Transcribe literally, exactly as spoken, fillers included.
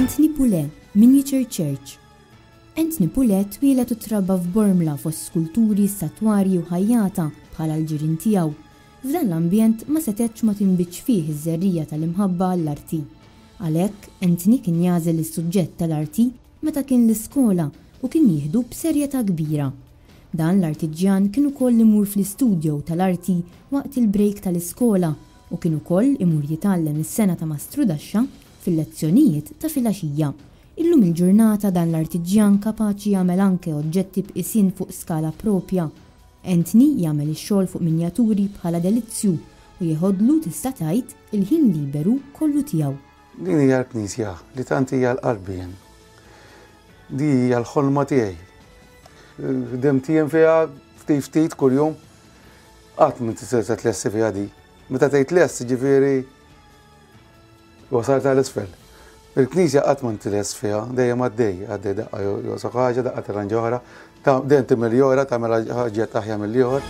Anthony Pule, Miniature Church. Anthony Pule twieled u trabba f'Bormla fost skulturi, statwarji u ħajjata bħala l-ġirien tiegħu. F'dan l-ambjent ma setgħetx ma tinbitx fih iż-żerriegħa tal-imħabba għall-arti. Għalhekk, Anthony kien jagħżel is-suġġett tal-arti meta kien l-iskola u kien jieħdu b'serjetà kbira. Dan l-artiġjan kien ukoll imur fl-istudio tal-arti waqt il-break tal-iskola u kien ukoll imur jitgħallem is-sengħa ta' mastrudaxxa fil-lezzjonijiet ta' filgħaxija. Illum il-ġurnata dan l-artiġjan kapaċi jagħmel anke oġġetti b'qisien fuq skala propja. Anthony jagħmel ix-xogħol fuq minjaturi bħala delizzju u jeħodlu, tista' tgħid, il-ħin liberu kollu tiegħu. Din hija l-knisja li tant hija għal qalbi jien. Di hija l-ħolma tiegħi. Ħdimt jien fiha ftit ftit kuljum. Qatt ma tista' tlesti fiha di. Meta tgħid lest, ġifieri wasal tal-isfel. Il-knisja qatt ma tlest fiha, dejjem għaddej, għaddej, daqqa jonqosok ħaġa, daqqa tirranġa oħra, dejjem timmeljora, tagħmel ħaġa aħjar mill-ieħor.